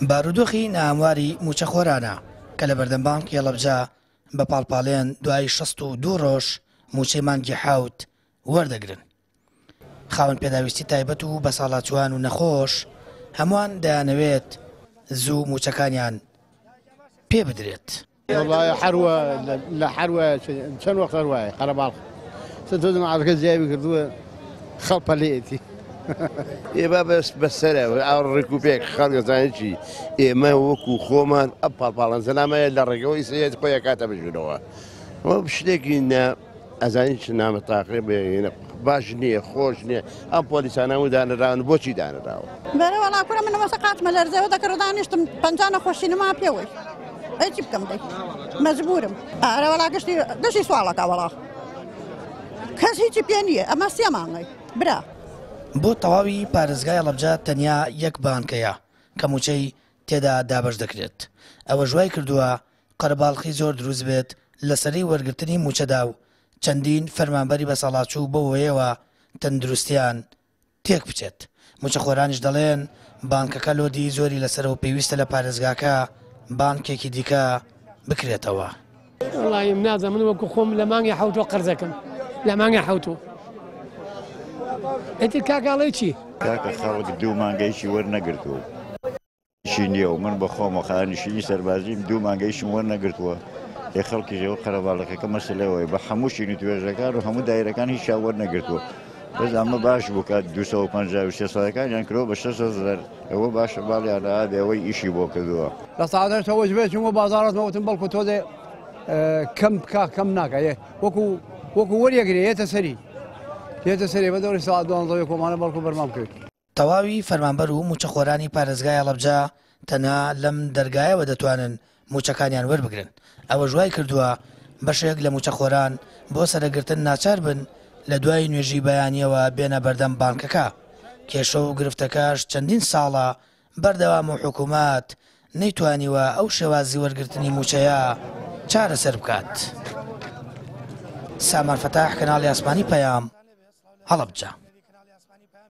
بارودۆخی ناهەمواری مووچەخۆرانە کە لەبەردەم بانکی هەڵەبجە بە پاڵپاڵێن دوای 62 ڕۆژ مووچەی مانگی حەوت وەردەگرن. خاوەن پێداویستی تایبەت و بەساڵاچووان و نەخۆش هەمووان دەیانەوێت زوو مووچەکانیان پێ بدرێت. وەڵای حەروە لە حەروە چەند وەخت هەروایە قەرەباڵخ چەند تۆ عەرەکە زیاوی کردووە خەڵ پەلێتی. ئێ با بەس بەسەرە ئاڕ ڕێک و پێک خەڵک دەزانێت چی ئێمە وەکو خۆمان ئەم پاڵپاڵان زەلامەیە لە ڕێگەوەی سەیەت خۆی ئەکاتە بژورەوە شتێکی نە ئەزانی چ نامە تاقێ بێنە باش نییە خۆش نییە ئەم پۆلیسانە و دانراون بۆچی دانراوە؟ بەرە وەڵا کورە من وەسە قاتمە لەرزەوە دەکرد دانیشتم پەنجا نەخۆشینەما پێوەی ئەی چی بکەم دەی مەجبورم ئارە وەڵا گشتی گشتی سواڵەکە وەڵا کەس هیچی پێ نییە ئەمە سێ مانگەی برا. بۆ تەواوی پارێزگای هەڵەبجە تەنیا یەک بانک هەیە کە مووچەی تێدا دابەش دەکرێت، ئەوەش وای کردووە قەرەباڵخی زۆر دروست بێت لەسەرەی وەرگرتنی مووچەدا و چەندین فەرمانبەری بەساڵاچوو بەو هۆیەوە تەندروستیان تێک بچێت، مووچەخۆرانیش دەڵێن بانکەکە لۆدی زۆری لەسەرە و پێویستە لە پارێزگاکە بانکێکی دیکە بکرێتەوە. وەڵایی من نازانم من وەکو خۆم لە مانگی حەوتوە قەرزەکەم لە مانگی حەوتوە ئیتر کاکە ئەڵێی چی؟ کاکە خەڵک دوو مانگەیشی وەرنەگرتووە. ئیشی نییە و من بە خۆمە خانشینی سەربازیم دوو مانگە ئیشم وەرنەگرتووە ئێ خەڵکیش ئەوە قەرەباڵەکەکە مەسەلەوەی بە هەموو شین و توێژەکان و هەموو دایرەکان هیچیان وەرنەگرتووە بەس ئەمە باش بوو کە 253 ساڵەکانیان کرۆ بە 600 ئەوە باشە باڵیان ئابێ ئەوەی ئیشی بۆ کردووە. لە سەعات هەشتەوە وەجبەیە چوومە بازاڕ وتم بەڵکو تۆزێ کەم بکا کەم ناکا وەکو وەکو وەریەگرێ یەتە سەری یەتە سەری بە دەوری سەعات دوانزە کۆمانە بەڵکو بەرمان بکەوێت. تەواوی فەرمانبەر و مووچەخۆرانی پارێزگای هەڵەبجە تەنها لەم دەرگایەوە دەتوانن مووچەکانیان وەربگرن، ئەوەش وایکردووە بەشێک لە مووچەخۆران بۆ سەرەگرتن ناچار بن لە دوای نوێژی بەیانییەوە بێنە بەردەم بانکەکە، کێشە و گرفتەکەش چەندین ساڵە بەردەوامە و حکومەت نەیتوانیوە ئەو شێوازی وەرگرتنی مووچەیە چارەسەر بکات. سامان فەتاح، کەناڵی ئاسمانی پەیام، هەڵەبجە.